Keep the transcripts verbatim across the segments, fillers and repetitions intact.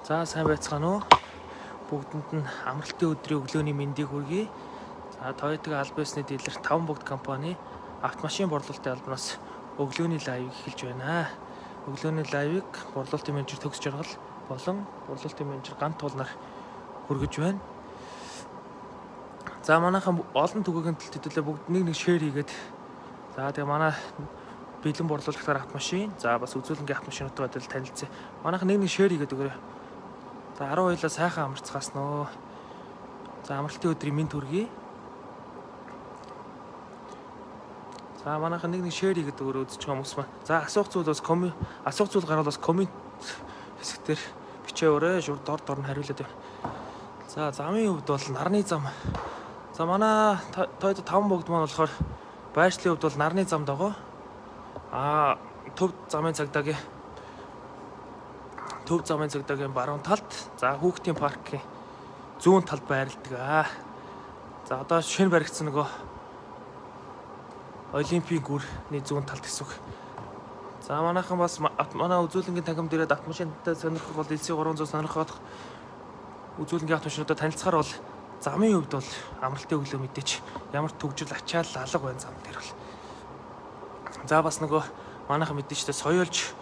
За сайн байцгаана уу? Бүгдэнд нь амралтын өдрийн өглөөний мэндийг хүргэе. За Toyota аль биесний дилер таван бүгд компани автомашин борлуулалтын албанаас өглөөний лайвыг эхэлж байна. Өглөөний лайвыг борлуулалтын менежер Төгс Жаргал болон борлуулалтын менежер Гант Туулнаар хүргэж байна. За манайхан олон түгээгэн төлөвлөлөө бүгд нэг нэг шеэр хийгээд за тэгээ манай бэлэн борлуулагчаар автомашин за бас үзүүлэнгийн автомашинуудтай бодвол танилцъя. Манайхан нэг нэг шеэр хийгээд өгөөрэй. За арван хоёулаа сайхан амарцгаас нөө. За амралтын өдрийн мэнд хүргэе. За манайхан нэг нэг шеэр хийгээд өгөөрэй үзэж байгаа хүмүүс маань. За асуух зүйл бас коммент асуух зүйл гарвал бас коммент хэсгээр бичээвэрээ шууд дор дор нь хариулаад байна. За замын хувьд бол нарны зам. За манай Toyota таван бүгд маань болохоор байршлын хувьд бол нарны замд байгаа. Аа төв замын цагдаагийн төв замын цагдаагийн баруун талд за хүүхдийн паркийн зүүн талд байрладаг аа. За одоо шинэ баригдсан нөгөө Олимпийн гүрний зүүн талд гэсэн үг. За манайхан бас манай үзүүлэнгийн тагим дээрээ автомашинтай сонирхох бол элс гурван зуун сонирхох үзүүлэнгийн автомашинуудад танилцахаар бол замын хувьд бол амралтын өглөө мэдээч ямар төгжрөл ачаал алга байна зам дээр бол. За бас нөгөө манайхан мэдээчтэй соёолж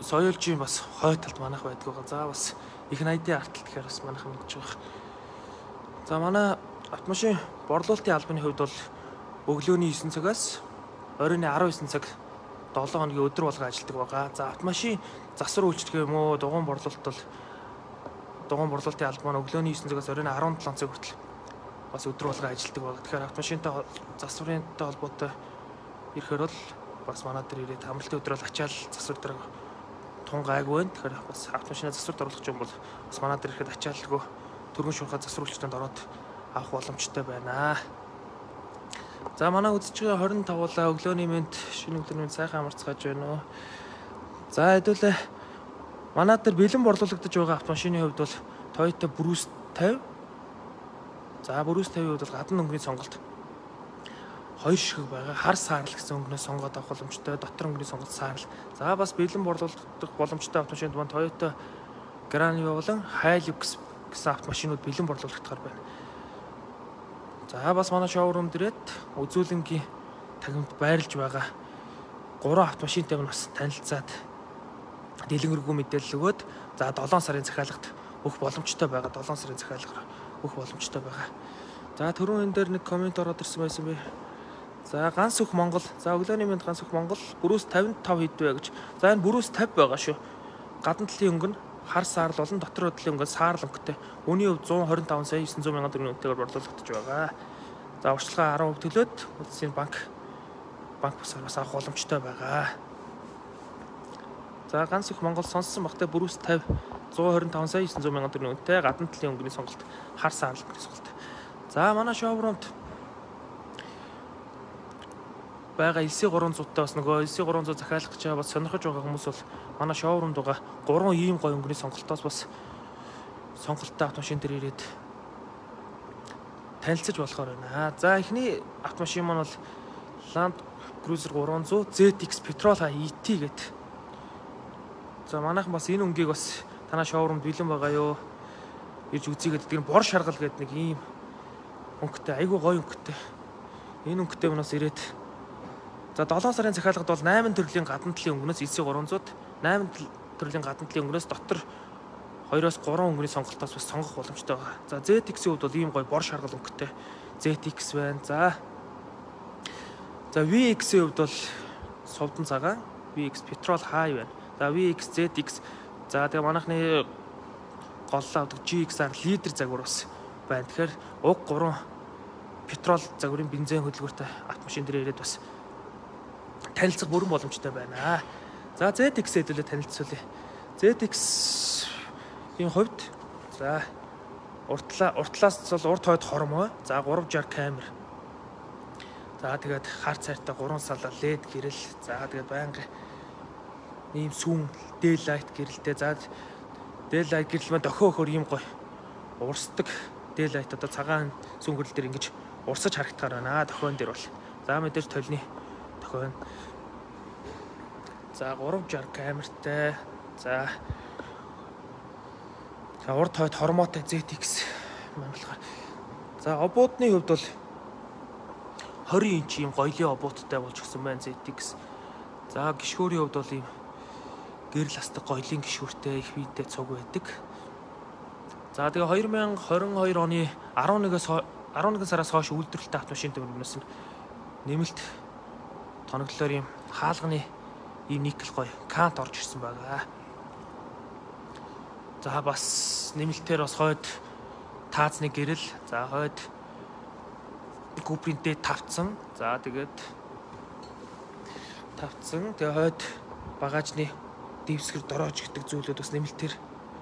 соёолжийн бас хой талд манайх байдаг байгаа. За бас их найдын арт гэхээр бас манайхан мэдж байгаа. За манай автомашин борлуулалтын албаны хувьд бол өглөөний нine цагаас оройн nineteen цаг seven хоногийн өдөр болго ажилладаг байгаа. За автомашин засвар үйлчлэх юм уу дугуйн борлуулалт бол дугуйн борлуулалтын албан маань өглөөний nine цагаас оройн seventeen цаг хүртэл бас өдөр болго ажилладаг байгаа. Тэгэхээр автомашинтай засварынтай холбоотой ирэхээр бол бас манай дээр ирээд амралтын өдөр бол ачаал засвар дээр тун гайгүй байна. Тэгэхээр бас автомашинаа засварт оруулах юм бол бас манай дээр ирэхэд ачаалгүй төргөн шуурхай засварлагчдад ороод авах боломжтой байна. За манай үзэж байгаа twenty-five улаа өглөөний мэнд шинэ өглөөний мэнд сайхан амарцгааж байна уу. За хэдүүлээ манай дээр бэлэн борлуулагдаж байгаа автомашины хувьд бол Toyota Bruce fifty. За Bruce fifty-ийн хувьд бол гадна өнгөний сонголт хоёр ширхэг байгаа. Хар саарл гэсэн өнгнөөс сонгоод авах боломжтой. Дотор өнгөний сонголт саарл. За бас бэлэн борлуулах боломжтой автомашинд маань Toyota Granio болон Hilux гэсэн автомашинууд бэлэн борлуулагдахаар байна. За бас манай шоурум дээрээ үзүүлэнгийн тагимд байрлаж байгаа гурван автомашинтай бас танилцаад дэлгэрэнгүй мэдээлэл өгөөд за seven сарын захиалгад өгөх боломжтой байгаа. seven сарын захиалгаар өгөх боломжтой байгаа. За түрүүн энэ дээр нэг коммент ороод ирсэн байсан бэ. За ганц өх Монгол. За өглөөний мэнд ганц өх Монгол Bruce fifty-five хэд вэ гэж. За энэ Bruce fifty байгаа шүү. Гадна талын өнгө нь хар саарл болон дотор талын өнгө нь саарл өнгөтэй. Үүний хувьд one twenty-five сая nine hundred мянган төгрөгийн үнэтэйгээр борлуулагдаж байгаа. За урьдчилгаа ten percent төлөөд улсын банк банк бусаар бас авах боломжтой байгаа. За ганц их Монгол сонссон багтай Bruce fifty one twenty-five сая nine hundred мянган төгрөгийн үнэтэй гадна талын өнгөний сонголт хар саарл өнгөний сонголт. За манай шоурумд байгаа элс three hundred таа бас нөгөө элс three hundred захиалах гэж бас сонирхож байгаа хүмүүс бол манай шоурумд байгаа гурван ийм гоё өнгөний сонголтоос бас сонголттой автомашин дээр ирээд танилцаж болохоор байна. За эхний автомашин маань бол Land Cruiser three hundred зет икс Petrol и ти гэдэг. За манайхан бас энэ өнгийг бас танаа шоурумд бэлэн байгаа юу? Ирж үзье гэдэг. Тэр бор шаргал гэдэг нэг ийм өнгөтэй айгүй гоё өнгөтэй. Энэ өнгөтэй манаас ирээд за seven сарын захиалгад бол eight төрлийн гадна талын өнгөнөөс элс three hundred eight төрлийн гадна талын өнгөнөөс дотор two-оос three өнгөний сонголтоос бас сонгох боломжтой байгаа. За зет икс-ийн хувьд бол ийм гоё бор шаргал өнгөтэй зет икс байна. За За ви икс-ийн хувьд бол совдон цагаан ви икс Petrol High байна. За ви икс зет икс за тэгээ манайхны голлоо авдаг джи икс ар лидер загвар бас байна. Тэгэхээр уг three Petrol загварын бензин хөдөлгөөртэй автомашин дээр ирээд бас танилцах бүрэн боломжтой байна. За зет икс хэдүүлээ танилцуулъя. зет икс-ийн хувьд за уртлаа уртлаас бол урт хойд хормой. За three sixty камер. За тэгээд хар цайртай three салаа лед гэрэл. За тэгээд байнгын ийм сүүн daylight гэрэлтэй. За daylight гэрэл маань дохио өхөр ийм гоё урсдаг daylight одоо цагаан сүүн гэрэл дээр ингэж урсаж харагдахаар байна. Дохион дээр бол. За мэдээж толны дохион. За three sixty камертай. За За урд хойд хормоотой зет икс маань болохоор. За обуудны хувьд бол twenty инч ийм гоёлын обуудтай болж гисэн байна зет икс. За гишгүүрийн хувьд бол ийм гэрэл астаг гоёлын гишгүүртэй их биетэй цуг байдаг. За тэгээ twenty twenty-two оны eleven-ээс eleven сараас хойш үйлдвэрлэлтэй автомашин төвлөрнөөс нь нэмэлт тоноглолоор ийм хаалганы ийм никл гоё кант орж ирсэн байгаа. За бас нэмэлтээр бас хойд таацны гэрэл, за хойд купринтэй тавцсан. За тэгээд тавцсан. Тэгээ хойд багажны дэвсгэр дороож гэдэг зүйлүүд бас нэмэлтээр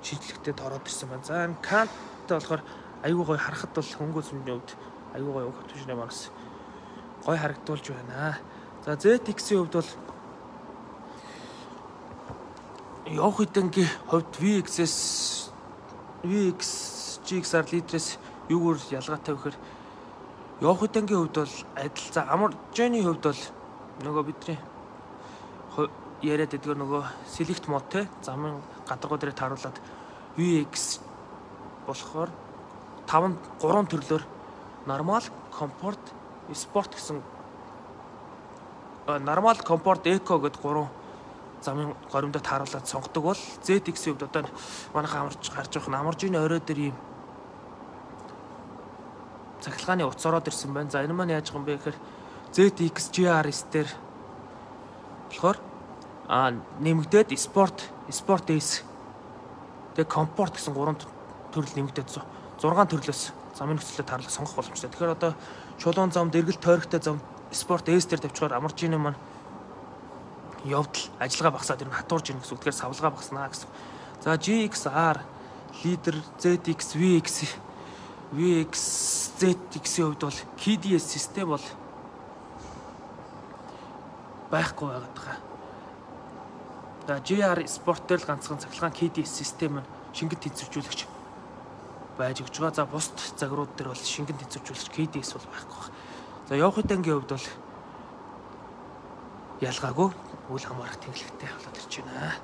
шинжлэхтэд ороод ирсэн байна. За энэ канттай болохоор аюу гой харахад бол хөнгөөс өмнө хувьд аюу гой автомашины манаас гой харагдуулж байна. За зет икс-ийн хувьд бол явах хэдэнгийн хувьд ви икс-с ви икс джи икс ар литрээс юугаар ялгаатай вэ гэхээр явах хэдэнгийн хувьд бол адил. За амаржны хувьд бол нөгөө бидний яриад байдаг нөгөө select mode те замын гадаргуу дээр тааруулаад ви икс болохоор five three төрлөөр normal, comfort, sport гэсэн normal, comfort, eco гэдэг гурван замын горимдоо тааруулаад сонгодог бол зет икс-ийн хувьд одоо манайхан амарч гарч явах амаржны орой дээр ийм цахилгааны утас ороод ирсэн байна. За энэ маань яаж байгаа юм бэ гэхээр зет икс джи ар эс дээр болохоор а нэмэгдээд спорт, спорт эс тэгээ комфорт гэсэн гурван төрөл нэмэгдээд сix төрлөөс замын нөхцөлөд тааруулах сонгох боломжтой. Тэгэхээр одоо чулуун зам, дэргэл тойрогтой зам спорт эс дээр тавьчихаар амаржны маань явдал ажиллагаа багасаад ирнэ, хатуурж ирнэ гэсэн үг. Тэгэхээр савлгаа багаснаа гэсэн. За джи икс ар лидер зет икс ви икс ви икс зет икс-ийн хувьд бол кей ди эс систем бол байхгүй байгаад байгаа. За джи ар спорт дээр л ганцхан цахилгаан кей ди эс систем нь шингэд тэнцвэржүүлэгч байж өгч байгаа. За бусд загварууд дээр бол шингэн тэнцвэржүүлэгч кей ди эс бол байхгүй байна. За явах хэдэнгийн хувьд бол ялгаагүй үл хамаарах тэнглэгтэй болоод ирж байна.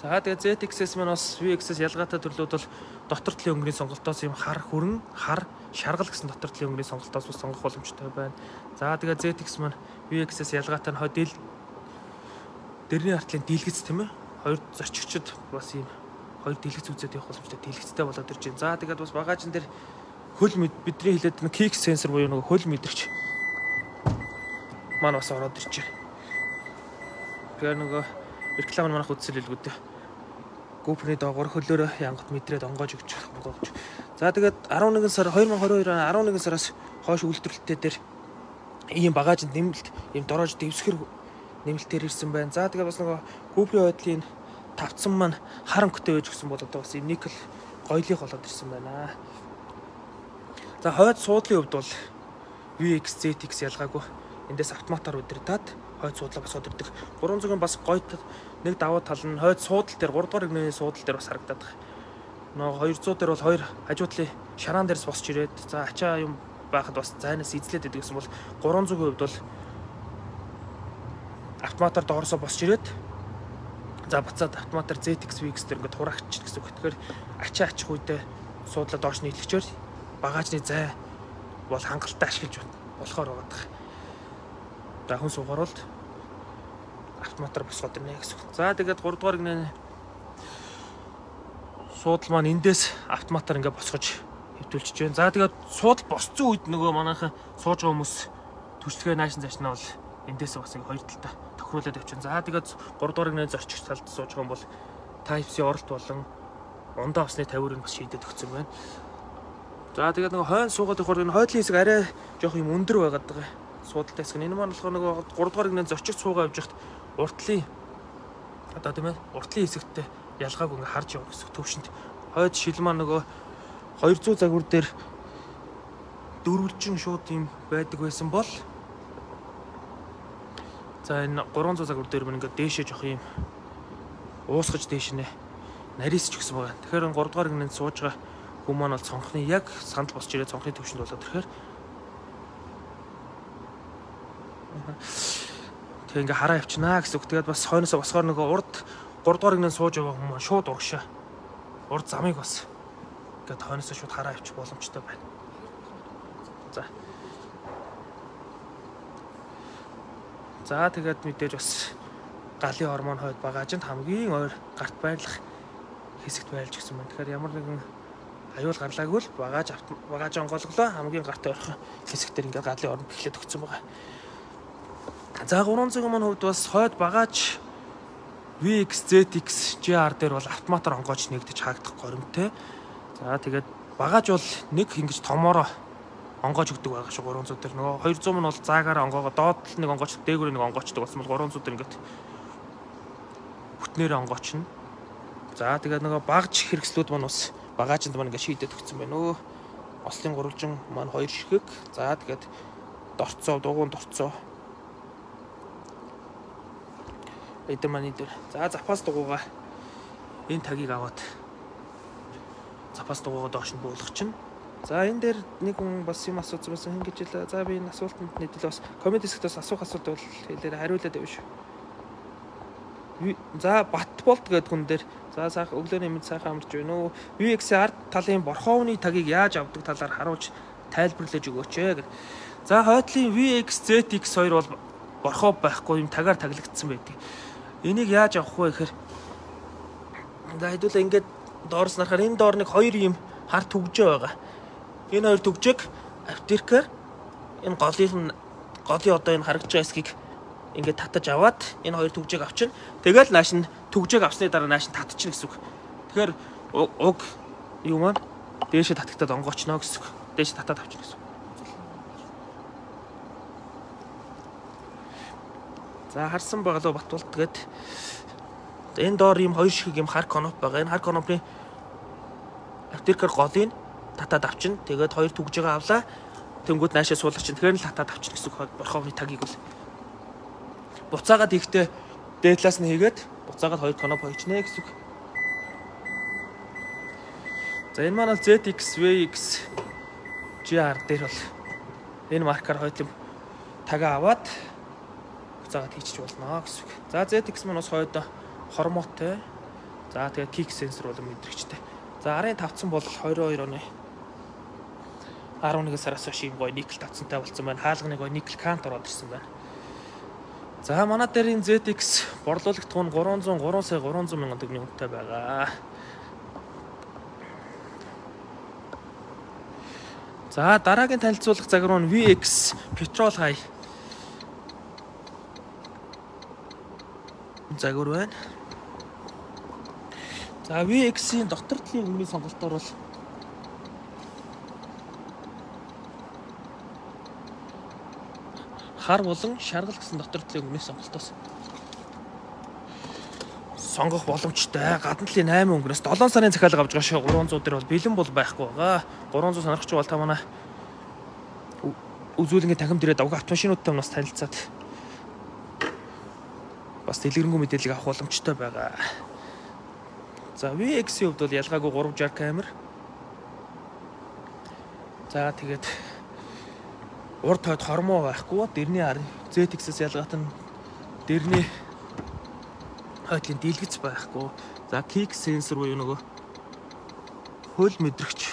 За тэгээ зет икс-с маань бас ви икс-с ялгаатай төрлүүд бол дотор талын өнгөний сонголтоос юм хар хүрэн, хар, шаргал гэсэн дотор талын өнгөний сонголтоос бас сонгох боломжтой байна. За тэгээ зет икс маань ви икс-с ялгаатай нь хойд дэрний артлын дийлгэц тийм ээ. Хоёр зорчигчд бас ийм хоёр дийлгэц үзээд явах боломжтой дийлгэцтэй болоод ирж байна. За тэгээд бас багажин дээр хөл бидний хэлээд нэг кик сенсор буюу нэг хөл мэдрэгч маань бас ороод ирж байна. Тэгэхээр нөгөө реклам манайх үзсэл хэлгүүд GoPro-ны доогоор хөлөөрөө янгат мэдрээд онгоож өгч онгоож. За тэгээд eleven сар twenty twenty-two оны eleven сараас хойш үйлдвэрлэлтээ дээр ийм багажинд нэмэлт ийм дороож дэвсгэр нэмэлтээр ирсэн байна. За тэгээд бас нөгөө GoPro байдлын тавцсан маань хар өнгөтэй байж гисэн бол одоо бас ийм никл гоёлыг болоод ирсэн байна. За хойд суудлын хувьд бол ви икс зет икс ялгаагүй. Эндээс автоматар удирдаад хойд суудлаа бас удирдах. Гурван зүгийн бас гоё нэг давуу тал нь хойд суудал дээр three дугаар игнэний суудал дээр бас харагдаад байна. Нөгөө two hundred дээр бол хоёр хажуу талын шараан дээрс босч ирээд за ачаа юм байхад бас зайнаас эзлээд идэг гэсэн бол three hundred хувьд бол автоматар доорсоо босч ирээд за буцаад автоматар зет икс ви икс дээр ингээд хураагч гэсэн үг. Тэгэхээр ачаа ачих үедээ суудлаа доош нийлгчээр багажны зай бол хангалттай ашиглаж болохоор байгаа. За хүн суугаар бол автоматар босгоод ирнэ гэсэн үг. За тэгээд three дугаар игнэний суудал маань эндээс автоматар ингээд босгож хэвтүүлчихэж байна. За тэгээд суудал босцсон үед нөгөө манайхан сууж байгаа хүмүүс түшилгээ наашин зашнаа бол эндээс бас ингээд хоёр талдаа тохируулаад авчихсан. За тэгээд three дугаар игнэний зорчигч талд сууж байгаа юм бол Type-C оролт болон ундаа усны тавиурыг бас шийдээд өгсөн байна. За тэгээд нөгөө хойно суугаад явахаар энэ хойдлын хэсэг арай жоох юм өндөр байгаад байгаа. Суудалтай хэсэг. Энэ маань болохоор нөгөө three дугаар игнэний зорчигч суугаа явж хахад уртлын одоо тийм ээ уртлын хэсэгтээ ялгааг ингээ харж явах гэсэн төвшөнд хойд шил маань нөгөө two hundred загвар дээр дөрвөлжин шууд юм байдаг байсан бол за энэ three hundred загвар дээр мань ингээ дээшээ жоох юм уусгаж дээш нэ нарийсч гисэн байгаа. Тэгэхээр three дугаар игнэнд сууж байгаа хүмүүс маань бол цонхны яг санал босч ирээ цонхны төвшөнд болоод тэгэхээр тэг ингээ хараа явчихнаа гэсэн үг. Тэгээд бас хойноосоо босгоор нөгөө урд гурав дугаар игнээ сууж байгаа хүмүүс шууд урагшаа. Урд замыг бас ингээд хойноос шууд хараа авчих боломжтой байна. За. За тэгээд мэдээж бас галын гормон хойд багаажинд хамгийн ойр гарт байрлах хэсэгт байлж гисэн байна. Тэгэхээр ямар нэгэн аюул гарлаагүй л багааж багааж онголглоо хамгийн гарт ойрхон хэсэгтэр ингээд галын орон бэхлээд өгсөн байгаа. За гурван цэгийн маань хувьд бас хойд багааж ви икс зет икс жи ар дээр бол автоматар онгооч нэгдэж хаагдах горимтой. За тэгээд багааж бол нэг ингэж томоороо онгоож өгдөг байгаа шүү гурван цэг дээр. Нөгөө хоёр зуун нь бол заагаараа онгоогоо доод л нэг онгооч дээгүүр нэг онгоочдөг болсон бол гурван цэг дээр ингээд бүтнээр онгоочно. За тэгээд нөгөө багж хэрэгслүүд маань бас багаажинд маань ингээд шийдээд өгсөн байна. Өө ослын гурвалжин маань хоёр ширхэг. За тэгээд дорцоо дугуун дорцоо эдгээр маань дээр. За запас дугуугаа энэ тагийг аваад запас дугуугаа доош нь буулгах чинь. За энэ дээр нэг хүн бас юм асуусан байсан хин гэж хэлээ. За би энэ асуултанд нийтлээ бас коммент хэсгээс асуух асуулт бол хэлээр хариулаад байв шүү. За Батболт гэдэг хүн дээр за сайхан өглөөний мэд сайхан амарч байна уу? ви икс ард талын борхоовны тагийг яаж авдаг талаар харуулж тайлбарлаж өгөөч ээ. За хойдлын ви икс зет икс хоёр бол борхоо байхгүй юм тагаар таглагдсан байдаг. Энийг яаж авах вэ гэхээр за хэдүүлээ ингээд доорс нарахаар энэ доор нэг хоёр юм хар түгжээ байгаа. Энэ хоёр түгжээг аптеркээр энэ голын голын одоо энэ харагдж байгаа хэсгийг ингээд татаж аваад энэ хоёр түгжээг авчин. Тэгэл нааш нь түгжээг авсны дараа нааш нь татчихна гэсэн үг. Тэгэхээр уг юу маань дээшээ татагтаад онгоочно гэсэн үг. Дээшээ татаад авчихна гэсэн үг. За харсан байгалаа Батболт тэгээд энэ доор ийм хоёр шиг юм хар коноп байгаа. Энэ хар конопны аптеркээр голыг татаад авчин. Тэгээд хоёр түгжээг авлаа. Тэнгүүд наашаа суулгах чинь тэгэхээр л татаад авчин гэсэн үг. Борхоовны тагийг бол буцаагаад ихтэй дээдлээс нь хийгээд буцаагаад хоёр коноп хоёчнэ гэсэн үг. За энэ маань зет икс ви икс жи ар дээр бол энэ маркер хойтлон тагаа аваад буцаагаад хийчих болно гэсэн үг. За зет икс маань бас хойдоо хормоотой. За тэгээд кик сенсор бол мэдрэгчтэй. За арын тавцсан бол хоёр хоёр оны арван нэгэн сараас хойш юм гоё никл тавцантай болсон байна. Хаалганы гоё никл кант ороод ирсэн байна. За манай дээр энэ зет икс борлуулагт хүн гурван зуун гурван сая гурван зуун мянган төгрөгийн үнэтэй байгаа. За дараагийн танилцуулах загвар нь ви икс Petrol High загвар байна. За ви икс-ийн дотор талын өнгөний сонголтоор бол хар болон шаргал гэсэн дотор талын өнгөний сонголтоос сонгох боломжтой. Гадна талын восемь өнгөнөөс долоон сарын захиалга авч байгаа шүү. гурван зуун дээр бол бэлэн бол байхгүй байгаа. гурван зуун сонирхч бол та манай үзүүлэнгийн танхимд ирээд авах автомашинуудтай нас танилцаад бас дэлгэрэнгүй мэдээлэл авах боломжтой байгаа. За ви икс-ийн хувьд бол ялгаагүй гурван шарк камер. За тэгээд урд хойд хормоо байхгүй. Дэрний арын зет икс-с ялгаатай нь дэрний хойдлын дийлгэц байхгүй. За кик сенсор буюу нөгөө хөл мэдрэгч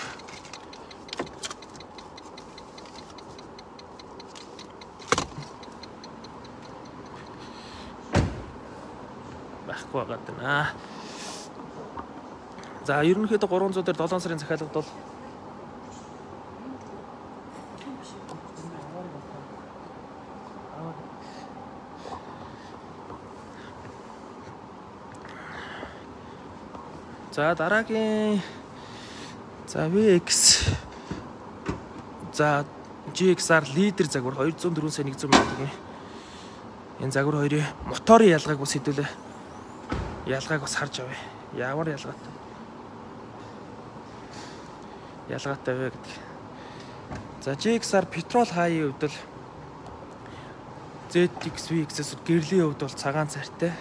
байхгүй байгаа даа. За ерөнхийдөө гурван зуун дээр долоон сарын захиалгад бол за дараагийн за ви икс за жи икс ар лидер загвар хоёр зуун дөрвөн сая нэгэн зуун мянган төгрөгийн энэ загвар хоёрын моторын ялгааг бас хэдүүлээ ялгааг бас харж авъя. Ямар ялгаатай ялгаатай вэ гэдэг. За жи икс ар Petrol High-ийн хувьд бол зет икс ви икс-с гэрлийн хувьд бол цагаан цартай.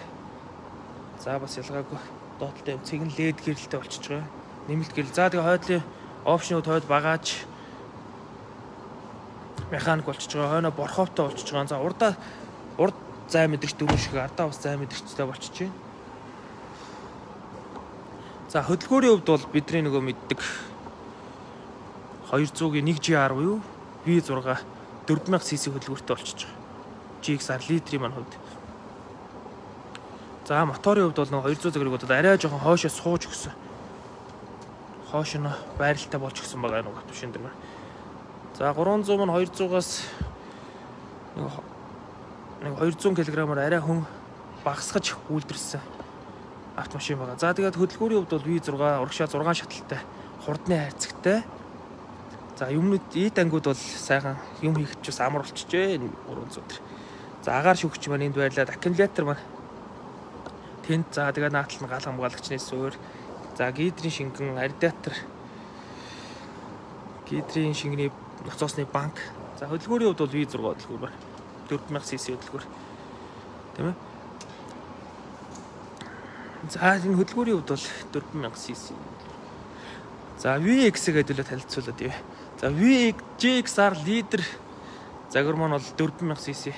За бас ялгаагүй доотлолтой цэгэн лед гэрэлтэй болчихж байгаа. Нэмэлт гэрэл. За тэгээ хойдлын опшнууд хойд багааж механик болчихж байгаа. Хойно борхоовтой болчихж байгаа. За урдаа урд зай мэдрэгч дөрөв шиг ардаа бас зай мэдрэгчтэй болчихж байна. За хөдөлгөөрийн хувьд бол бидний нөгөө мэддэг хоёр зуугийн нэг жи ар буюу ви зураг дөрвөн мянга сс хөдөлгөөртэй болчихж байгаа. жи икс ар литрийн маань хувьд. За моторын хувьд бол нөгөө хоёр зуун загварыг бодоод арай жоохон хоошоо сууж өгсөн. Хоош нь байралтай болж өгсөн байгаа нөгөө машин дээр. За гурван зуун маань хоёр зуугаас нэг хоёр зуун кг-аар арай хүн багасгаж үйлдвэрсэн автомашин байгаа. За тэгээд хөдөлгөөрийн хувьд бол ви зураг урагшаа зургаан шаталтай, хурдны хайрцагтай. За юмнууд ид ангууд бол сайхан юм хийх ч бас амар болчихжээ гурван зуун дээр. За агаар шүгч маань энд байрлаад аккумулятор маань тэнд за тэгээд наатал нь гал хамгаалагчны суурь. За гидрийн шингэн, радиатор, гидрийн шингэний ноцоосны банк. За хөдөлгөөрийн хувьд бол ви зураг хөдөлгөөр байна. дөрвөн мянга сс хөдөлгөөр. Тийм ээ. За энэ хөдөлгөөрийн хувьд бол дөрвөн мянга сс. За ви икс гэдэг л танилцуулаад ив. За ви жи икс ар лидер загвар маань бол дөрвөн мянга сс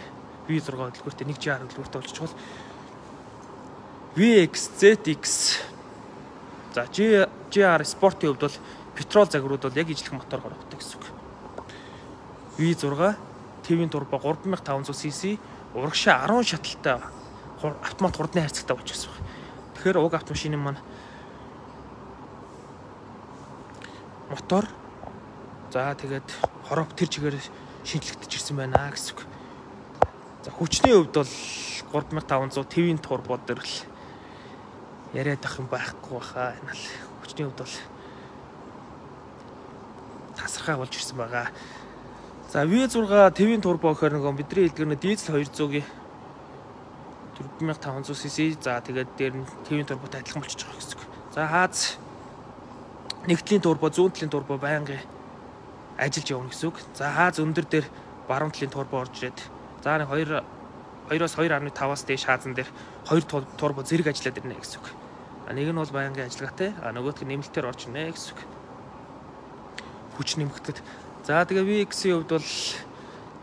ви зураг хөдөлгөөртэй нэг жи ар хөдөлгөөртэй болчихвол ви икс зет икс за жи ар спортын хувьд бол петрол загварууд бол яг ижлэх мотор гаргадаг гэсэн үг. ви зураг твийн турбо гурван мянга таван зуун сс урагшаа арван шаталтай автомат хурдны хайрцагтай болчихсон байна. Тэгэхээр уг автомашины маань мотор за тэгээд хорог тэр чигээр шинжлэгдэж ирсэн байна гэсэн үг. За хүчний хувьд бол гурван мянга таван зуун твийн турбо дээр л яриад ах юм байхгүй баха. Энэ л хүчний хувьд бол тасархай болж ирсэн байгаа. За ви зураг твийн турбо гэхээр нөгөө бидний хэлдгэрнэ дизель хоёр зуугийн дөрвөн мянга таван зуун сс за тэгээд дээр нь твийн турботой адилхан болчихж байгаа гэсэн үг. За хааз нэгтлийн турбо, зүүн талын турбо байнгын ажиллаж явна гэсэн үг. За хааз өндөр дээр баруун талын турбо орж ирээд за нэг хоёр хоёроос хоёр арван таваас дээш хаазан дээр хоёр турбо зэрэг ажиллаад ирнэ гэсэн үг. Нэг нь бол байнгын ажиллагаатай, а нөгөөх нь нэмэлтээр орж ирнэ гэсэн үг. Хүч нэмэгдэхэд. За тэгээ ви икс-ийн хувьд бол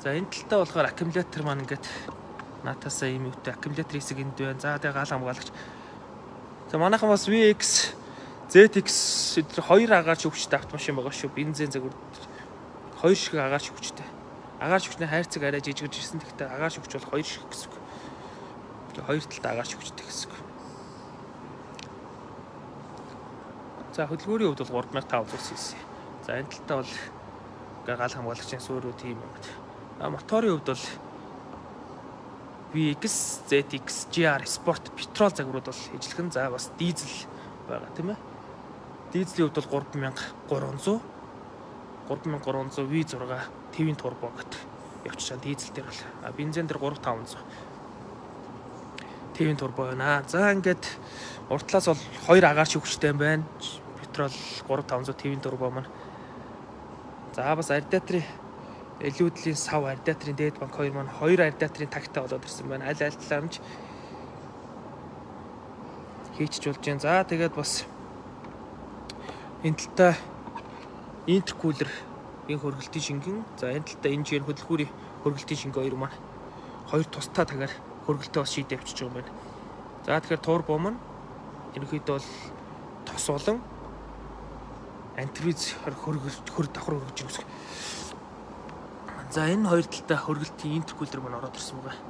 за энэ талтаа болохоор аккумулятор маань ингээд наатаасаа ийм үүтэй аккумулятор хэсэг энд байна. За тэгээ гал хамгаалагч. За манайхан бас ви икс зет икс хоёр агаар шүгчтэй автомашин байгаа шүү. Бензин загвар хоёр шиг агаар шүгчтэй. Агаар шүгчний хайрцаг арай жижигж ирсэн. Гэхдээ агаар шүгч бол хоёр шиг гэсэн үг. Тэгээ хоёр талтай агаар шүгчтэй гэсэн үг. За хөдөлгөөрийн хувьд бол гурван мянга таван зуун сс. За энэ талтаа бол гал хамгаалагчийн суурь тийм юм байна. А моторын хувьд бол ви икс, зет икс, жи ар спорт петрол загварууд бол ижлэхэн за бас дизель байгаа тийм ээ. Дизелийн хувьд бол гурван мянга гурван зуун гурван мянга гурван зуун ви зураг твийн турбо гэдэг явчихсан дизель дээр бол. А бензин дээр гурван таван зуун твийн турбо байна. За ингээд уртлаас бол хоёр агаар шүгчтэй байна. Петрол гурван таван зуун твийн турбо маань. За бас радиаторын элүүдлийн сав радиаторын дээд банк хоёр маань хоёр радиаторын тагтай болоод ирсэн байна. Аль аль талаар нь хийчих болж байна. За тэгээд бас энэ талтаа интеркулер энэ хөргөлтийн шингэн. За энэ талтаа энэ жигээр хөдөлгүүрийн хөргөлтийн шингэн хоёр маань хоёр тустай тагаар хөргөлтөө бас шийдэ авчиж байгаа юм байна. За тэгэхээр турбо маань ерөнхийдөө бол тос болон антивиз хөргөлт хөр давхар хөргөж байгаа. За энэ хоёр талтай хөргөлтийн интеркулер маань ороод ирсэн байгаа.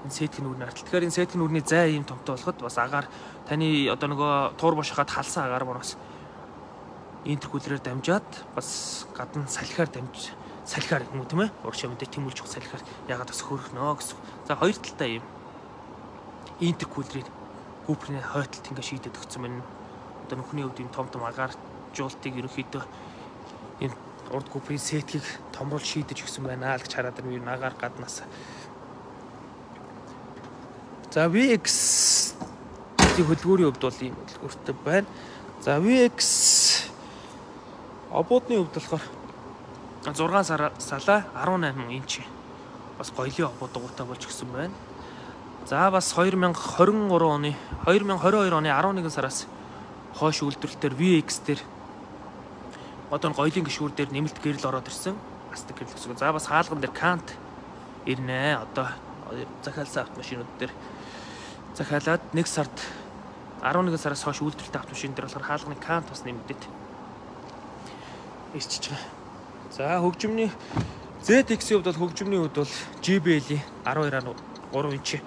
Энэ сетийн үрний артал. Тэгэхээр энэ сетийн үрний зай ийм томтой болоход бас агаар таны одоо нөгөө турбо шахаад халсан агаар маань бас интеркулерээр дамжаад бас гадна салхиар дамж салхиар юм уу тийм ээ? Урагшаа мэдээ тэмүүлж өгөх салхиар ягаад бас хөргөнө гэсэн. За хоёр талтай ийм интеркулерийн гүприйн хойтолт ингээ шийдэд өгсөн байна. Одоо нөхний хувьд ийм том том агаар жуултыг ерөнхийдөө энэ урд гүприйн сетгийг томрол шийдэж өгсөн байна л гэж хараад байна. Агаар гаднаас. За ви икс-ийн хөдөлгөөрийн хувьд бол ийм хөдөлгөөртэй байна. За ви икс обуудны хувьд болохоор зургаан салаа арван найман инч бас гоёлын обууд дугуйтай болж өгсөн байна. За бас хоёр мянга хорин гурван оны хоёр мянга хорин хоёр оны арван нэгэн сараас хойш үйлдвэрлэлээр ви икс дээр одоо гоёлын гишүүр дээр нэмэлт гэрэл ороод ирсэн. Астик гэрэл гэсэн. За бас хаалган дээр кант ирнэ. Одоо захиалсан автомашинууд дээр захиалаад нэг сард арван нэгэн сараас хойш үйлдвэрлэлтэй автомашин дээр болохоор хаалганы кант бас нэмэгдээд ирчихэж байгаа. За хөгжмөний зет икс-ийн хувьд бол хөгжмөний хувьд бол джи би эл-ийн арван хоёр гурван инч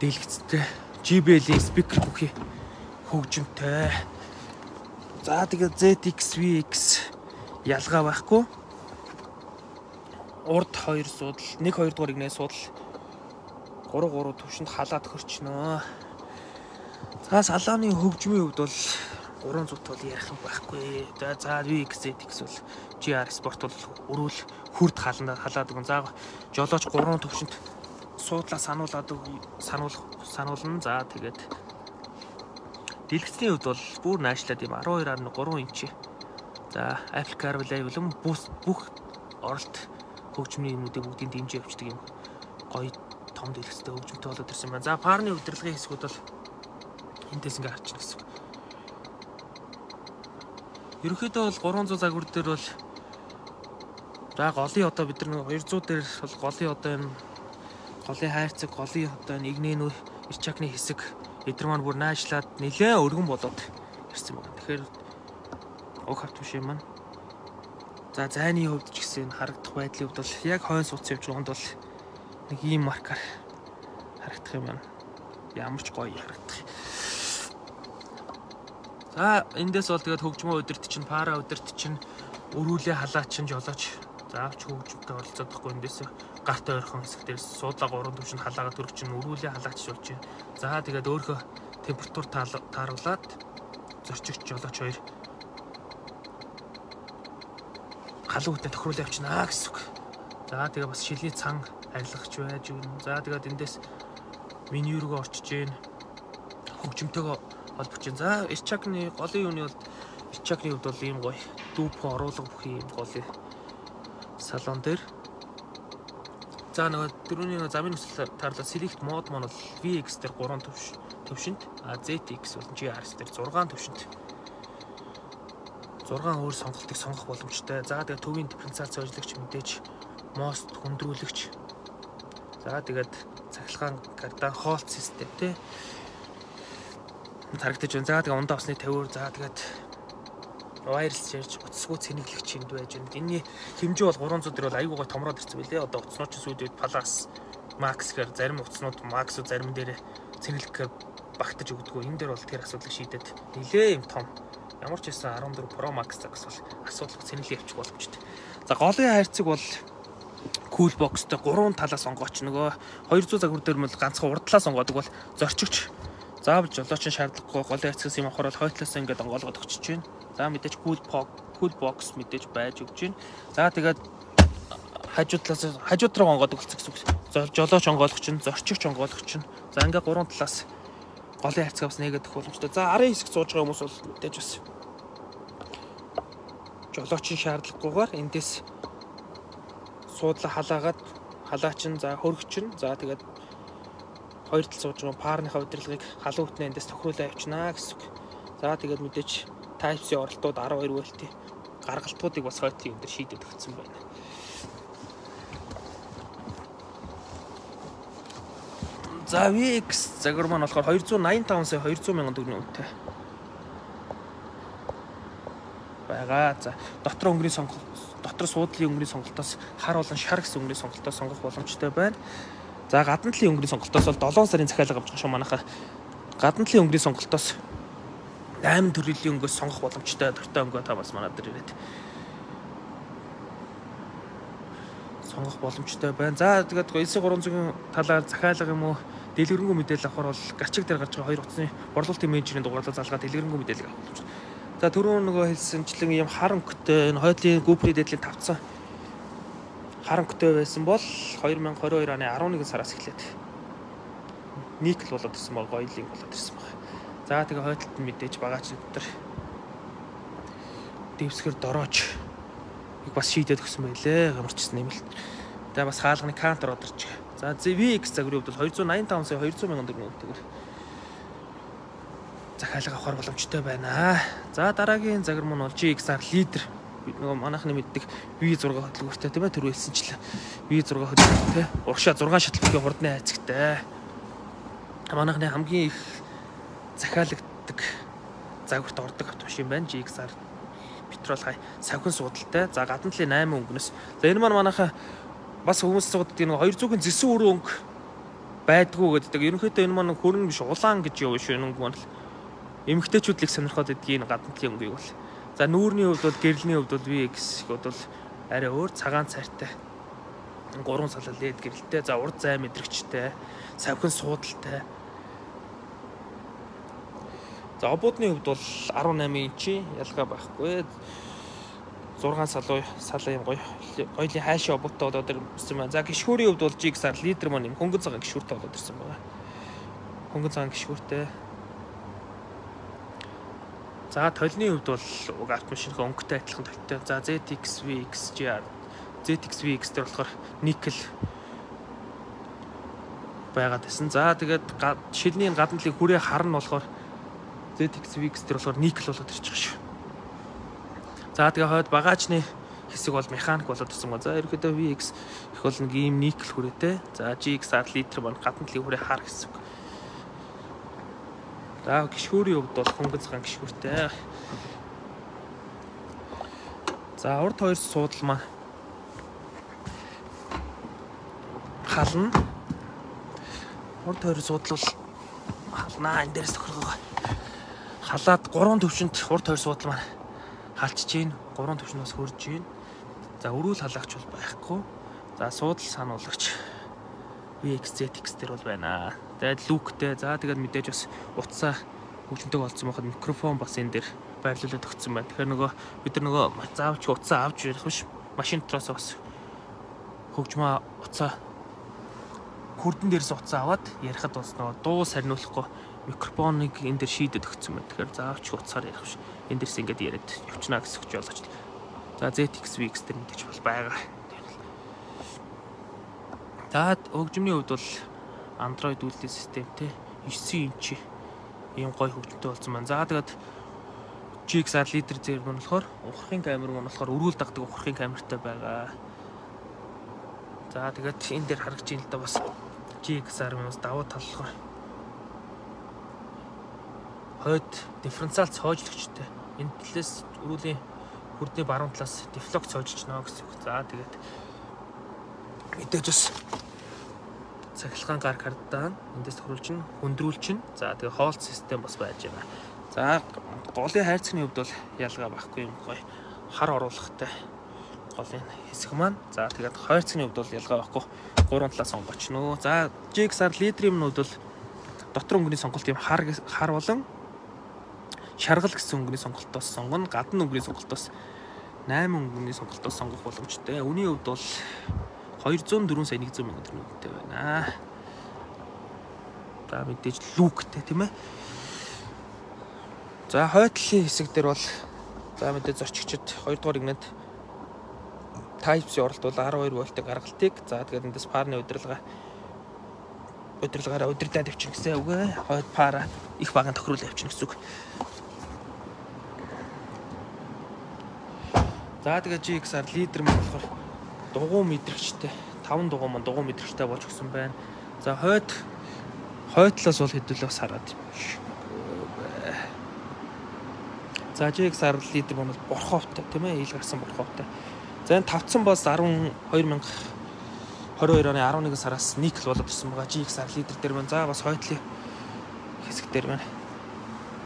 дэлгэцтэй джи би эл-ийн спикер бүхий хөгжмөнтэй. За тэгээд зет икс ви икс ялгаа байхгүй. Урд хоёр судал, нэг хоёр дугаар игнээ судал гурван гурван төвшөнд халаад хөрчнөө. За салааны хөгжмийн хувьд бол гурван зут бол ярих юм байхгүй. За ви икс зет икс бол джи ар спорт бол өрөөл хүрд халандаа халаад өгөн. За жолооч гурван төвшөнд суудлаа сануулад сануул сануулна. За тэгээд дэлгэцний хувьд бол бүр наашлаад юм арван хоёр ам гурван инч. За Apple CarPlay болон бүх оролт хөгжмийн юмнуудыг бүгдийг дэмжиж явуулдаг юм гоё том дэлгэцтэй хөгжмөнтэй болоод ирсэн байна. За парны удирдлагын хэсгүүд бол эндээс ингээ харчихна гэсэн. Ерөнхийдөө бол гурван зуун загвар дээр бол за голын одоо бид нар хоёр зуун дээр бол голын одоо энэ голын хайрцаг, голын одоо энэ игнэнүү ирчакны хэсэг эдгээр маань бүр наашлаад нэлээд өргөн болоод ирсэн байна. Тэгэхээр уг автомашин маань за зайны хувьд ч гэсэн харагдах байдлын хувьд бол яг хойно сууц явж байгаанд бол нэг ийм маркаар харагдах юм байна. Ямар ч гоё харагдах. За эндээс бол тэгээд хөгжмөө өдөрт чинь, пара өдөрт чинь, өрүүлээ халаа чинь жолооч. Заавч хөгжмөнтэй оролцоод байхгүй эндээс гарт ойрхон хэсэг дээрс суудлаа гурван төвшөнд халаагаа төрөх чинь өрүүлээ халаач болж байна. За тэгээд өөрийнхөө температур тааруулаад зорчигч жолооч хоёр халуутаа тохируулж явчихнаа гэсэн үг. За тэгээ бас шилний цан арилгахч байж өгнө. За тэгээд эндээс меню рүү орчиж гин хөгжмөнтэйгөө холбож гин. За ирчакны голын юуны бол ирчакны хувьд бол ийм гоё дүүп оруулга бүх юм голын салон дээр. За нөгөө дөрөвний замын нөхцөл таарлал select mode маань бол ви икс дээр гурван төвш төвшөнд, а зет икс бол джи ар эс дээр зургаан төвшөнд. зургаан өөр сонголтыг сонгох боломжтой. За тэгээд төвийн дифференциац ажиллагч мэдээж мост хүндрүүлэгч. За тэгээд цахилгаан кардан хоолт систем тий. Харагдаж байна. За тэгээд ундаа усны тавиур. За тэгээд wireless charge утасгүй цэнэглэгч энд байж байна. Энийний хэмжээ бол гурван зуун дээр бол аюу гой томроод ирсэн байлээ. Одоо утаснууд ч сүйд Plus Max гэхээр зарим утаснууд Max зарим дээр цэнэглэхээр багтаж өгдөггүй. Энэ дээр бол тэр асуудлыг шийдээд нилээ юм том. Ямар ч байсан арван дөрөв Pro Max загас бол асуудал цэнэглээ явчих боломжтой. За голын хайрцаг бол cool box-тэй гурван талаас сонгооч. Нөгөө хоёр зуун загвар дээр мэл ганцхан урдлаа сонгоодог бол зорчигч заавал жолоочин шаардлагагүй голын хайрцагс юм авахаар хойтлоос ингээд онгоолгоод өгч чинь. За мэдээж cool cool box мэдээж байж өгч чинь. За тэгээд хажуу талаас хажуу руу онгоод өгсөн гэсэн үг. Жолооч онгоолгоч чинь, зорчигч онгоолгоч чинь. За ингээд гурван талаас голын хайрцагс нэгэдэх боломжтой. За арын хэсэг сууж байгаа хүмүүс бол мэдээж бас жолоочийн шаардлагагүйгээр эндээс суудлаа халаагаад халаачин за хөргөчин за тэгээд хоёр тал сууж байгаа парныхаа удирдлагыг халуутны эндээс тохируулаад явчихнаа гэсэн үг. За тэгээд мэдээж Type-C оролтууд арван хоёр вольтын гаргалтуудыг бас хойтын энэ төр шийдэж өгсөн байна. За ви икс загвар маань болохоор хоёр зуун найман таван сая хоёр зуун мянган төгрөгийн үнэтэй байгаа. За дотор өнгөрийн сонголт, дотор суудлын өнгөрийн сонголтоос хар болон шар гэсэн өнгөрийн сонголтоос сонгох боломжтой байна. За гадна талын өнгөрийн сонголтоос бол долоон сарын захиалга авч байгаа шүү манайхаа. Гадна талын өнгөрийн сонголтоос найман төрлийн өнгөөс сонгох боломжтой. Дортой өнгөө та бас манад дээр ирээд сонгох боломжтой байна. За тэгээд элс гурван зуун талаар захиалга юм уу дэлгэрэнгүй мэдээлэл авахар бол гачиг дээр гарч байгаа хоёр утасны борлуулалтын менежерийн дугаарлал залгаад дэлгэрэнгүй мэдээлэл авах боломжтой. За түрүүн нөгөө хэлсэнчлэн ийм хар өнгөтэй энэ хоёулын GoPro дээдлийн тавцсан хар өнгөтэй байсан бол хоёр мянган двадцать хоёр оны арван нэгэн сараас эхлээд никл болоод ирсэн баг, гойлинг болоод ирсэн баг. За тэгээ хойдолд нь мэдээж багаач дотор дэвсгэр дорооч их бас шийдээд өгсөн байлээ. Ямар ч юм нэмэлт. Тэгээ бас хаалганы кантер одорч. За ви икс загварын хувьд бол хоёр зуун найман таван сая хоёр зуун мянган төгрөгийн үнэтэйгээр захиалга авахар боломжтой байна. За дараагийн загвар маань бол джи икс ар лидер. Нөгөө манайхны мэддэг ви сix хөдөлгөөртэй тийм ээ түрүү хэлсэнчлээ. ви six хөдөлгөөртэй. Урагшаа зургаан шатлбгийн хурдны хайцагтай. Манайхны хамгийн их захиалагддаг загварт ордог автомашин байна. джи икс ар петрол хай савхин суудалтай. За гадна талын eight өнгөнөөс. За энэ маань манайхаа бас хүмүүс асуудаг нэг two hundred-ын зэсэн өрөө өнгө байдгүй гэдэг. Ерөнхийдөө энэ маань хөрн биш улаан гэж явна шүү өнгө маань л. Эмэгтэйчүүдлийг сонирхоод идэг энэ гадна талын өнгөийг бол. За нүүрний хувьд бол гэрлийн хувьд бол ви икс хувьд бол арай өөр цагаан цайртай. Гурван салал лед гэрэлтэй. За урд зай мэдрэгчтэй. Савхин суудалтай. За обуудны хувьд бол eighteen инчи ялгаа байхгүй. six салуу салаа юм гоё. Гоёлын хайшаа обуудтай болоод ирсэн байна. За гişхүүрийн хувьд бол джи икс ар литр маань юм хөнгөн цагаан гişхүүртэй болоод ирсэн байна. Хөнгөн цагаан гişхүүртэй. За толны хувьд бол уг автомашинхаа өнгөтэй адилхан толтой. За зет икс ви икс джи ар зет икс ви икс дээр болохоор никл байгаад байсан. За тэгээд шилний гадна талын хүрээ хар нь болохоор зет икс ви икс дээр болохоор никл болоод ирчих шүү. За тэгээ хойд багаачны хэсэг бол механик болоод ирсэн гоо. За ерөөдөө ви икс их бол нэг ийм никл хүрээтэй. За джи икс ар литр маань гадна талын хүрээ хар гэсэн. За гişхүүрийн хувьд бол хөнгөн цагаан гişхүүртэй. За урд хоёр суудал маань хална. Урд хоёр суудал бол халнаа энэ дээрээс тохиргоо. Халаад гурван төвшөнд урд хоёр суудал маань халчиж гин, гурван төвшнөөс хөрж гин. За өрүүл халагч бол байхгүй. За суудал сануулагч ви икс зет икс дээр бол байна. Тэгээд лүктэй. За тэгээд мэдээж бас утсаа хөгжмөнтэй болсон байхад микрофон бас энэ дээр байрлуулад өгсөн байна. Тэгэхээр нөгөө бид нар нөгөө заавч утсаа авч ярих биш. Машин дотроос бас хөгжмөө утсаа хурдан дээрээс утсаа аваад ярихад бас нөгөө дуу сарниулахгүй микрофоныг энэ дээр шийдэд өгсөн байна. Тэгэхээр заавч утсаар ярих биш. Энэ дээрс ингээд яриад явчихна гэсэн үг болооч. За зет икс ви икс дээр мэдээж бол байгаа. За хөгжмөний хувьд бол Android үйлдвэрлэлийн системтэй nine инчи ийм гоё хөгжмөнтэй болсон байна. За тэгээд джи икс ар литр зэр нь болохоор ухрахын камер нь болохоор өрүүл дагдаг ухрахын камертай байгаа. За тэгээд энэ дээр харагдж байна л да бас джи икс ар минус давуу тал болохоор хойд дифференциал цоожлогчтой. Энэ талаас өрүүлийн хүрдний баруун талаас дефлок цоожиж нөө гэсэн үг. За тэгээд мэдээж бас цахилгаан гар картаа эндээс тохируулж, хөндрүүлж, за тэгээ хоолт систем бас байж байгаа. За голын хайрцагны хувьд бол ялгаа байхгүй юм гоё. Хар оруулахтай голын хэсэг маань. За тэгээд хайрцагны хувьд бол ялгаа байхгүй. Гурван талаас сонгоч нөө. За джи икс ар литрийн хувьд бол дотор өнгөний сонголт юм хар хар болон шаргал гэсэн өнгөний сонголтоос сонгоно. Гадна өнгөний сонголтоос eight өнгөний сонголтоос сонгох боломжтой. Үүний хувьд бол two hundred four сая one hundred мянган төгрөгтэй байна. За мэдээж лүктэй тийм ээ. За хойдлын хэсэг дээр бол за мэдээж зорчигчд two дугаар игнэд Type C оролт бол twelve вольтын гаргалтыг за тэгээд эндээс парны удирдлага удирдлагаараа удирдаад явчихна гэсэн үг ээ. Хойд пара их баган тохируулж явчихна гэсэн үг. За тэгээд джи икс ар лидер маань болохоор дугуй мэдрэгчтэй five дугуй маань дугуй мэдрэгчтэй болж өгсөн байна. За хойд хойдлоос бол хэдүүлээ бас хараад юм шүү. За джи икс ар лидер маань борховтой тийм ээ, ил гарсан борховтой. За энэ тавцсан бас twelve thousand twenty-two оны eleven сараас никл болоод ирсэн байгаа. джи икс ар лидер дээр маань за бас хойдлын хэсэг дээр маань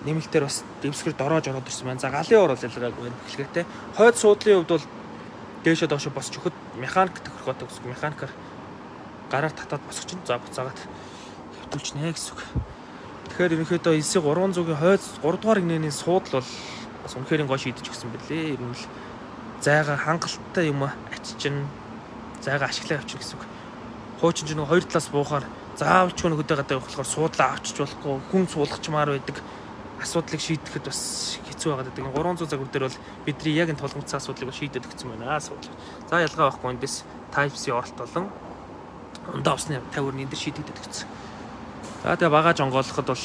нэмэлтээр бас дэвсгэр дороож ороод ирсэн байна. За галын ор бол ялгаагүй байна. Эхлэхдээ хойд суудлын хувьд бол дээшээ доошо босч өгөхөд механик тохирохтой гэсэн. Механикаар гараар татаад босгоч нь за буцаагаад хөвтүүлчихнэ гэсэн үг. Тэгэхээр ерөнхийдөө эс three hundred-ийн хойд three дугаар игнэний суудл бол бас үнэхээр гоо шийдэж өгсөн бэлээ. Ер нь л зайгаа хангалттай юм аччин зайгаа ашиглаа явчих гэсэн үг. Хуучин ч нэг хоёр талаас буухаар заавч хүн хөдөө гадаа явах болохоор суудлаа авчиж болохгүй, хүн суулгачмаар байдаг. Асуудлыг шийдэхэд бас хэцүү байгаад байдаг. three hundred загвар дээр бол бидний яг энэ толгомцсон асуудлыг шийдэд өгсөн байна. Асуудал. За ялгаа байхгүй эндээс Type C оролт болон ундаа усны тавиурны энэ дэр шийдэгдэж өгсөн. За тэгээ багаж онгоолоход бол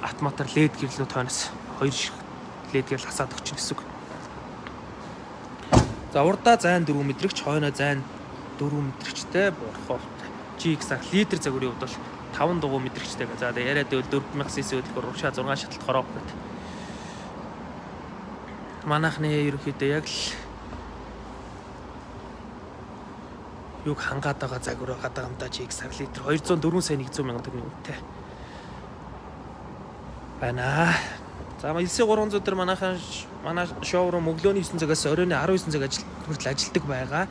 автоматар лед гэрлүү тойноос хоёр шиг лед гэрл хасаад өгч гэсэн үг. За урдаа зайн four мэдрэгч, хойноо зайн four мэдрэгчтэй борховт джи икс ар лидер загварын хувьд бол таван дугуй мэдрэгчтэй. За тэгээ яриад байвал дөрвөн мянган сс хөдөлгөөр урагшаа зургаан шаталт хороо гэд. Манайхны ерөнхийдөө яг л юг хангаад байгаа загвар гадаа гамдаа чи X литр двухсот дөрвөн сая нэгдүгээр мянган төгрөгийн үнэтэй байна. За элсээ гурван зуун дээр манайхан манай шоурум өглөөний девять цагаас оройн десять цаг ажил хүртэл ажилдаг байгаа.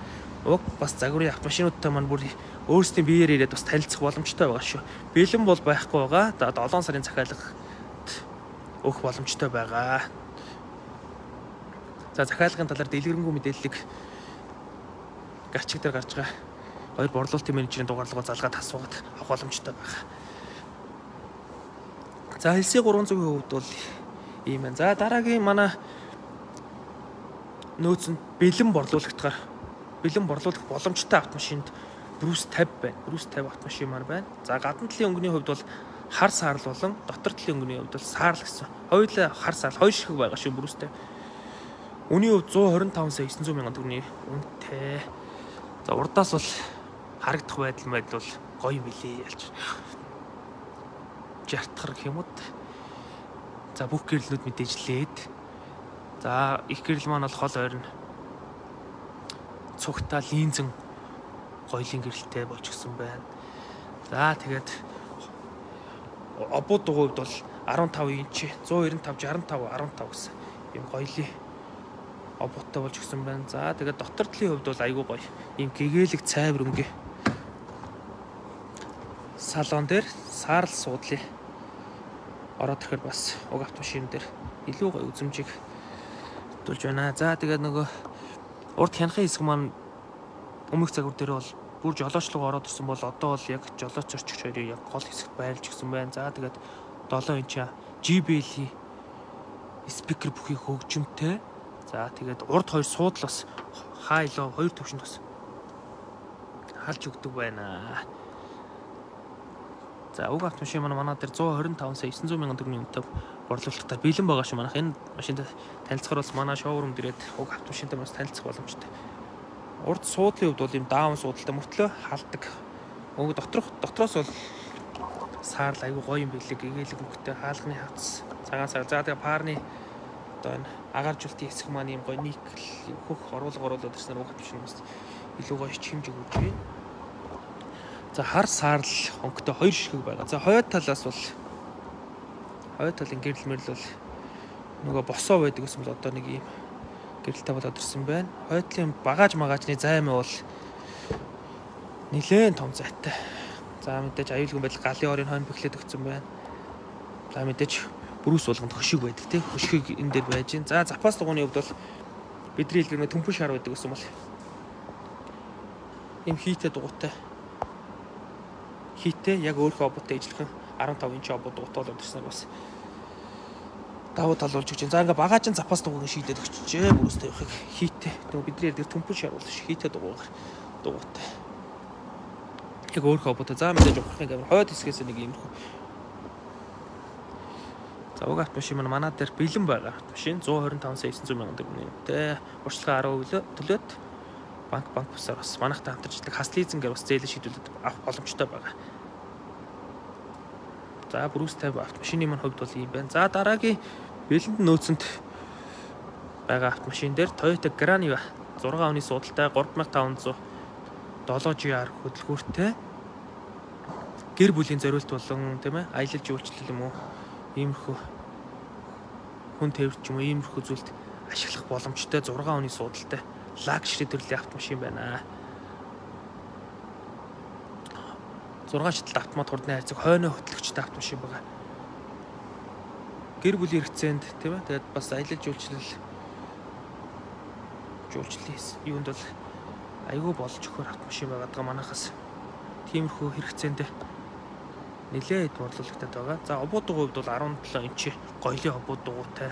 Уг бас загварын автомашинуудтай маань бүр өөрсдийн биеэр ирээд бас танилцах боломжтой байгаа шүү. Бэлэн бол байхгүй байгаа. За долоон сарын захиалга өгөх боломжтой байгаа. За захиалгын талаар дэлгэрэнгүй мэдээллийг гарчиг дээр гарч байгаа хоёр борлуулалтын менежерийн дугаарлалгоо залгаад асуугаад авах боломжтой байгаа. За элсээ гурван зууны хувьд бол ийм байна. За дараагийн манай нөөцөнд бэлэн борлуулагтгаар бэлэн борлуулах боломжтой автомашинд Брус пятьдесят байна. Брус пятьдесят автомашин маань байна. За гадна талын өнгөний хувьд бол хар саарл болон дотор талын өнгөний хувьд бол саарл гэсэн. Хоёулаа хар саарл хоёр шиг байгаа шүү Брус пятьдесят. Үний хувьд one twenty-five сая nine hundred мянган төгрөгийн үнэтэй. За урдаас бол харагдах байдал байдал бол гоё юм билээ ялч. Жартхар гэх юм уу. За бүх гэрлэлүүд мэдээжлээд. За их гэрэл маань бол хол ойрн цугтаа линзэн гоёлын гэрэлтэй болж гисэн байна. За тэгээд обуудын хувьд бол fifteen инч one ninety-five sixty-five гэсэн юм гоёлын обуудтай болж гисэн байна. За тэгээд дотор талын хувьд бол айгүй гоё. Ийм гэгээлэг цайвар өнгө салон дээр саарл суудлын ороод ирэхээр бас уг автомашин дээр илүү гоё үзмжийг тулж байна. За тэгээд нөгөө урд хянахын хэсэг маань өмнөх загвар дээр бол бүр жолоочлого ороод ирсэн бол одоо бол яг жолооч зорчигч хоёрын яг гол хэсэгт байрлж гисэн байна. За тэгээд seven инч J B L спикер бүхий хөгжимтэй. За тэгээд урд хоёр суудл бас хайлоо хоёр төвшөнд бас халж өгдөг байна. За уг автомашин манай манай дээр one twenty-five сая nine hundred мянган төгрөгийн үнэтэй борлуулалтаар бэлэн байгаа шүү. Манайх энэ машинд танилцахаар бас манай шоурум дээрээ уг автомашинтай бас танилцах боломжтой. Урд суудлын хувьд бол ийм даун суудалтай мөртлөө халдаг. Өнгө доторх дотроос бол саарл аягүй гоё юм билээ. Гэгээлэг өнгөтэй хаалганы хавц цагаан сар. За тэгээ парны одоо энэ агааржуултын хэсэг маань ийм гоё никл хөх оруулга оруулаад ирснээр уг автомашин бас илүү гоё хэмжиг өгч байна. За хар саарл өнгөтэй хоёр ширхэг байгаа. За хойд талаас бол хойд талын гэрэл мэрэл бол нөгөө босоо байдаг гэсэн бол одоо нэг ийм гэрэлтэй болоод ирсэн байна. Хойдлын багаж магаажны займаа бол нэлээд том зайтай. За мэдээж аюулгүй байдал галын орын хойно бэхлээд өгсөн байна. За мэдээж брус болгонд хөшиг байдаг тийм хөшгийг энэ дээр байж гин. За запас дугууны хувьд бол бидний хэлгэрнэ төмпөш шар байдаг гэсэн бол ийм хийтэй дугуйтай хийтэй яг өөрхөө обуудтай ижилхэн fifteen инч обууд дугуйтай болоод ирсэн бас давуу тал болж өгч. За ингээ багажин запас дугуйг шийдээд өгчжээ. Бүрөөстэй явахыг хийтэй. Тэгвэл бидний дээр төмпөш шар бол хийтэй дугуйгаар дугуйтай. Яг өөрхөө обуудтай. За мэдээж ухрахын гэмээр хойд хэсгээс нэг иймэрхүү. За уг автомашин маань манай дээр бэлэн байгаа. Автомашин one twenty-five сая nine hundred мянган төгрөгийн. Урьдчилан ten percent төлөөд банк банк бусаар бас манайхтай хамтарчдаг хас лизингээр бас зээлээ шийдүүлээд авах боломжтой байгаа. За Брус пятьдесят автомашины маань хувьд бол ийм байна. За дараагийн бэлэнд нөөцөнд байгаа автомашин дээр Toyota Graniva six оны суудалтай three thousand five hundred seven G R хөдөлгөөртэй гэр бүлийн зориулт болон тийм ээ аялал жуулчлал юм уу иймэрхүү хүн тээвэрч юм уу иймэрхүү зүйлд ашиглах боломжтой six оны суудалтай лагшри төрлийн автомашин байна. six шаталт автомат хурдны хайрцаг хойно хөтлөгчтэй автомашин байгаа. Гэр бүлийн хэрэгцээнд тийм ээ тэгээд бас аялал жуулчлал жуулчлалын юунд бол айгүй болж өгөхөр автомашин байгаа манайхаас тиймэрхүү хэрэгцээнд нэлээд борлуулагтад байгаа. За обуудын хувьд бол seventeen инч гоёлын обууд дугуйтай.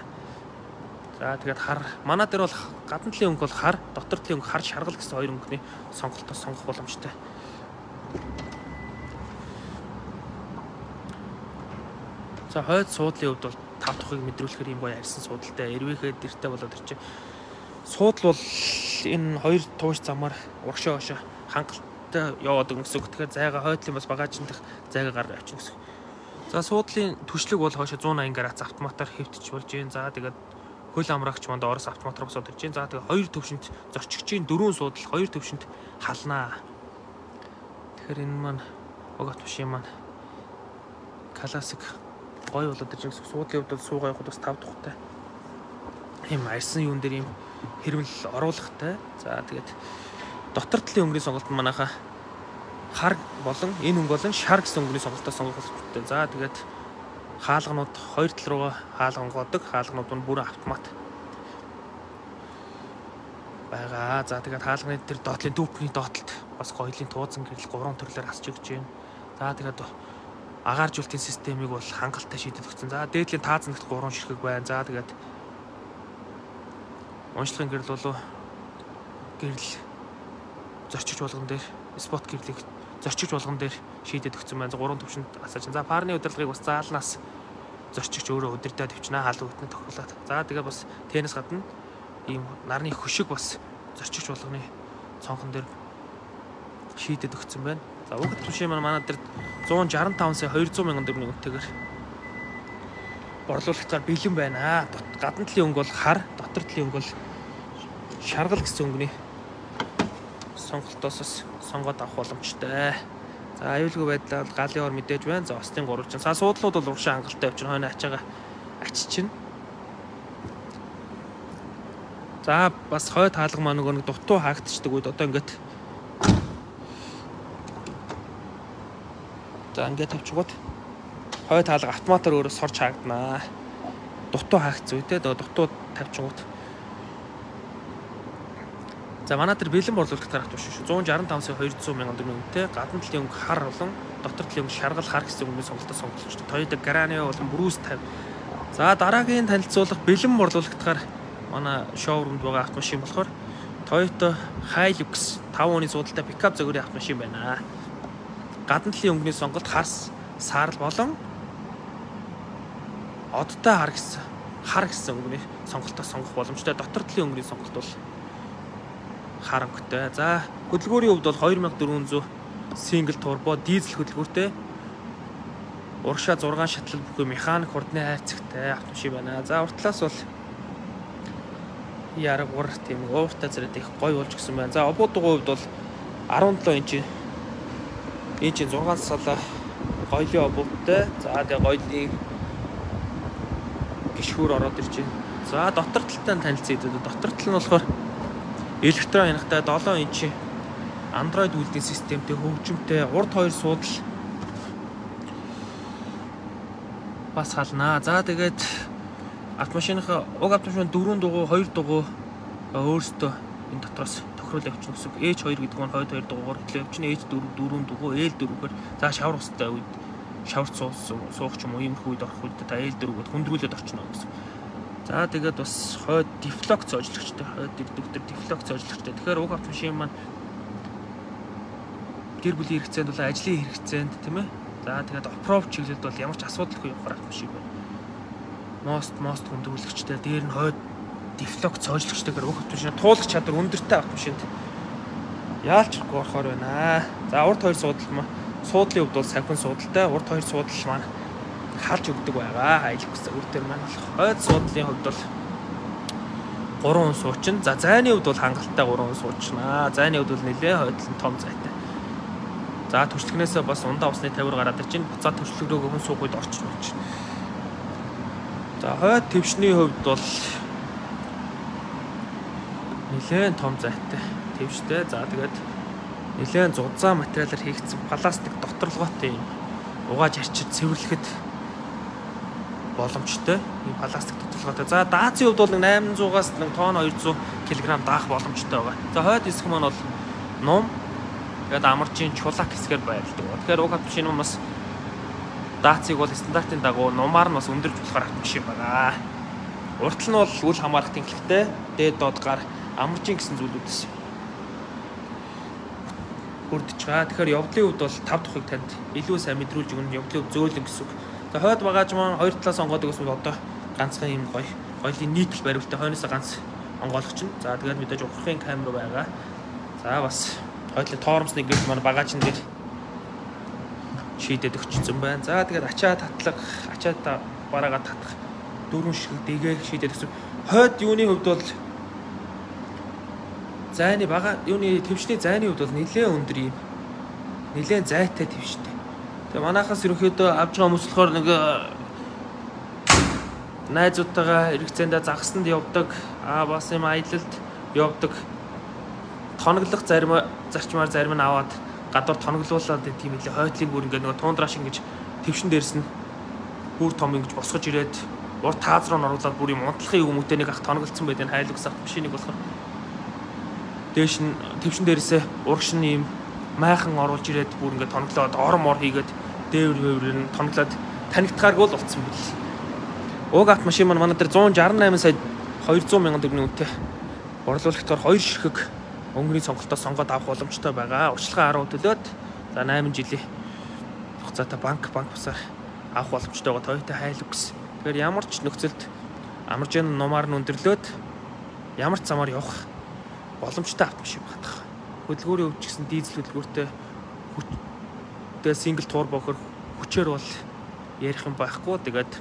За тэгээд хар манай дээр бол гадна талын өнгө бол хар, дотор талын өнгө хар шаргал гэсэн хоёр өнгөний сонголтоос сонгох боломжтой. За хойд суудлын хувьд бол тав дахыг мэдрүүлэхээр юм гоё арьсан суудалтай, эрвээхэд дэртэй болоод ирчээ. Суудл бол энэ хоёр тууш замаар урагшаа хошоо хангалт хангалттай яваад өгнө гэсэн үг. Тэгэхээр зайгаа хойдлын бас багажин дэх зайгаа гаргаж авчихна гэсэн. За суудлын түшлэг бол хойшо one eighty градус автоматар хэвтэж болж байна. За тэгээд хөл амрагч манд орос автоматар босоод ирж байна. За тэгээд хоёр төвшинт зорчигчийн дөрвөн суудал хоёр төвшинт халнаа. Тэгэхээр энэ маань уг автомашин маань классик гоё болоод ирж байгаа. Суудлын хувьд бол суугаа явахд бас тав тухтай. Ийм арьсан юун дээр ийм хэрмэл оруулахтай. За тэгээд дотор талын өнгөний сонголт манайха хар болон энэ өнгө болон шар гэсэн өнгөний сонголтоо сонгох хэрэгтэй. За тэгээд хаалганууд хоёр тал руугаа хаалгангоодог. Хаалганууд нь бүрэн автомат байгаа. За тэгээд хаалганы тэр доотлын дүүпний доотлолт бас гоёлын тууцан гэрэл гурван төрлөөр хасч өгч байна. За тэгээд агааржуулалтын системийг бол хангалттай шийдэд өгсөн. За дээдлийн таазандагт гурван ширхэг байна. За тэгээд уншлагын гэрэл болов гэрэл зорчигч болгон дээр спот гэрлийг зорчигч болгон дээр шийдэд өгсөн байна. гурван төвшөнд асааж. За парны удирдлагыг бас заалнаас зорчигч өөрөө удирдах төвчнээ хаалга бүтнэ тохиолоод. За тэгээд бас теннис гадна ийм нарны хөшиг бас зорчигч болгоны цонхон дээр шийдэд өгсөн байна. За уг автомашин маань манай дээр one sixty-five сая two hundred мянган төгрөгийн үнэтэйгээр борлуулалтаар бэлэн байна. Гадна талын өнгө бол хар, дотор талын өнгө бол шаргал гэсэн өнгөний сонголтоос сонгоод авах боломжтой. За аюулгүй байдлаар галын ор мэдээж байна. За остын гурвалжин. За суудлууд бол урагшаа хангалттай явж байна. Хойно ачаага ачиж чинь. За бас хойд хаалга маань нөгөө нэг дутуу хаагдчихдаг үед одоо ингээд за ингээд тавьчихгууд хойд хаалга автоматар өөрөө сорж хаагдана. Дутуу хаагдсан үедээ дутуу тавьчихгууд. За манай тэр бэлэн борлуулагчаар автомашин шүү. one sixty-five сая two hundred мянган төгрөгийн үнэтэй гадна талын өнгө хар болон дотор талын өнгө шаргал хар гэсэн өнгөний сонголтоо сонгож байна. Toyota Granio болон Bruce fifty. За дараагийн танилцуулах бэлэн борлуулагчаар манай шоурумд байгаа автомашин болохоор Toyota Hilux five оны суудалтай пикап зөгөрийн автомашин байна. Гадна талын өнгөний сонголт хас, саарл болон одтой хар гэсэн хар гэсэн өнгөний сонголтоо сонгох боломжтой. Дотор талын өнгөний сонголт бол хар өнгөтэй. За хөдөлгөөрийн хувьд бол two thousand four hundred single turbo дизель хөдөлгөөртэй. Урагшаа six шатлал бүхий механик хурдны хайрцагтай автомашин байна. За урт талаас бол яргуур тийм ууртай зэрэг их гоё болж гисэн байна. За обуудгийн хувьд бол sevenseven инч инч six сала гоёлын обуудтай. За тэгээ гоёлын гişхүүр ороод ирж байна. За дотор талтай танилцъя. Дотор тал нь болохоор электрон хянахтай seven инч Android үйлдвэрийн системтэй хөгжимтэй урд хоёр суудал бас халнаа. За тэгээд автомашиныхаа уг автомашин дөрвөн дугуй two дугуй өөрсдөө энэ дотроос тохируулж явчихна гэсэн. H two гэдэг нь хойд two дугуугаар хөтлөө явчихна. H four four дугуй, L four-гээр за шавар устай үед шаварт суух ч юм уу иймэрхүү үед орох үед та L four-гээд хүндрүүлээд орчихно гэсэн. За тэгээд бас хойд дефлокс зоожлагчтай, хойд дефлектор дефлокс зоожлагчтай. Тэгэхээр уг автомашин маань гэр бүлийн хэрэгцээнд бол ажлын хэрэгцээнд тийм ээ. За тэгээд оффроуд чиглэлд бол ямар ч асуудалгүй явах автомашин байна. Мост мост хүндрүүлэгчтэй, дээр нь хойд дефлокс зоожлагчтайгаар уг автомашин туулах чадвар өндөртэй автомашинд яалчгүй орохоор байна. За урд хоёр суудал маа суудлын хувьд бол сахин суудалтай, урд хоёр суудал маань халж өгдөг байгаа. Hilux үр дээр маань хойд суудлын хувьд бол three хүн суучин. За зайны хувьд бол хангалттай three хүн суучнаа. Зайны хувьд бол нэлээ хойдлон том зайтай. За төрчлөгнөөсөө бас ундаа усны тавир гараад ирж байна. Буцаад төрчлөг рүү хүн суух үед орчих болж байна. За хойд твшний хувьд бол нэлээд том зайтай твштэй. За тэгээд нэлээд зузаан материалаар хийгдсэн пластик доторлоготой юм угааж арчиж цэвэрлэхэд боломжтой. Ийм пластик доторлоготой. За даацын хувьд бол eight hundred-аас one ton two hundred кг даах боломжтой байгаа. За хойд хэсэг маань бол ном тэгээд амарчийн чулак хэсгээр байрладаг. Тэгэхээр уг автомашин нь бас даацыг бол стандартын дагуу нумаар нь бас өндөрж болохоор автомашин байгаа. Уртл нь бол үл хамаарах тэнхлэгтэй. Дээд доод гар амарчийн гэсэн зүйлүүдээс бүрдэж байгаа. Тэгэхээр явдлын хувьд бол five тухыг танд илүү сайн мэдрүүлж өгнө. Явдлын хувьд зөөлөн гэсэн үг. За хойд багаж маань хоёр талаас онгоодог гэсэн одоо ганцхан юм гоё гоёлын нийтлэл бариултай хойноос ганц онгоолгоч нь. За тэгээд мэдээж ухрахын камер байгаа. За бас Хойдлын тоормсны гэрэл манай багажин дээр шийдээд өгчихсөн байна. За тэгээд ачаа татлах, ачаа бараагаа татах дөрвөн ширхэг дэгээ шийдээд өгсөн. Хойд юуны хувьд бол зайны бага юуны твшний зайны хувьд бол нэлээд өндөр юм. Нэлээд зайтай твштэй. Тэгээ манайхаас ерөнхийдөө авж байгаа хүмүүс болохоор нэг найзуудтайгаа эргэцээндээ загсанд явдаг, аа бас юм аялалд явдаг. Тоноглох зарим зарчмаар зарим нь аваад гадуур тоноглуулаад тийм хэлээ хойтлын бүр ингээд нөгөө туундраш ингэж твшин дээрс нь бүр том ингэж босгож ирээд урд тааз руу оруулаад бүр юм унтлахын хүмүүстээ нэг ах тоноглолцсон байдэн хайлгс авт машиныг болохоор дээш нь твшин дээрсээ урагш нь юм майхан оруулж ирээд бүр ингээд тоноглоод ором ор хийгээд дээвэр вэврээр нь тоноглоод танигдахааргүй л болцсон бэл. Уг авт машин маань манай дээр one sixty-eight сая two hundred мянган төгрөгийн үнэтэй борлуулагчдаар хоёр ширхэг өнгөрийн сонголтоос сонгоод авах боломжтой байгаа. Урьдчилан арав төлөөд за eight жилийн хугацаатай банк банк бусаар авах боломжтой байгаа Toyota Hilux. Тэгэхээр ямар ч нөхцөлд амаржийн нумаар нь өндөрлөөд ямар ч замаар явах боломжтой автомашин багтах. Хөдөлгүүрийн өвч гэсэн дизель хөдөлгүүртэй хүчтэй сингл турбо хөр хүчээр бол ярих юм байхгүй. Тэгээд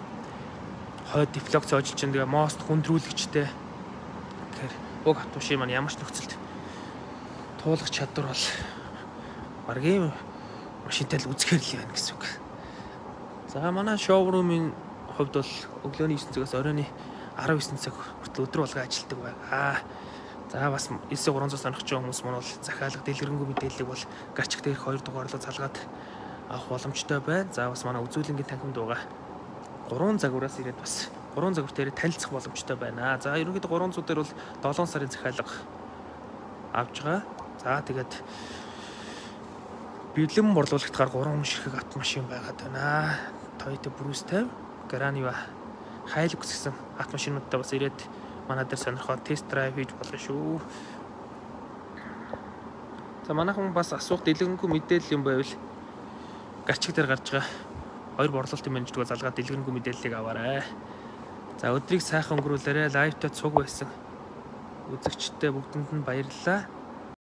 хойд дефлекц ожилж чинь тэгээ мост хүндрүүлэгчтэй. Тэгэхээр уг автомашин маань ямар ч нөхцөлд туулах чадвар бол баргийн машинтай л үзэхэр л байна гэсэн үг. За манай шоурумын хувьд бол өглөөний nine цагаас оройн nineteen цаг хүртэл өдөр болго ажилладаг байгаа. За бас nine three hundred сонирхож байгаа хүмүүс маань бол захиалга дэлгэрэнгүй мэдээллийг бол гарчиг дээрх хоёр дугаарлуу залгаад авах боломжтой байна. За бас манай үзүүлэнгийн танхимд байгаа гурван загвараас ирээд бас гурван загвар дээр танилцах боломжтой байна. За ерөнхийдөө гурван зуун дээр бол seven сарын захиалга авж байгаа. За тэгээд бэлэн борлуулагчдаар гурван ширхэг автомашин байгаад байна. Toyota Prius fifty, Graniva, Hilux гэсэн автомашинуудтай бас ирээд манай дээр сонирхоод тест драйв хийж болно шүү. За манайхан бас асуух дэлгэрэнгүй мэдээлэл юм байвал гарчиг дээр гарч байгаа хоёр борлуулалтын менежергээ залгаад дэлгэрэнгүй мэдээллийг аваарай. За өдрийг сайхан өнгөрүүлээрэй. Лайвтай цуг байсан үзэгчтэй бүгдэнд нь баярлалаа.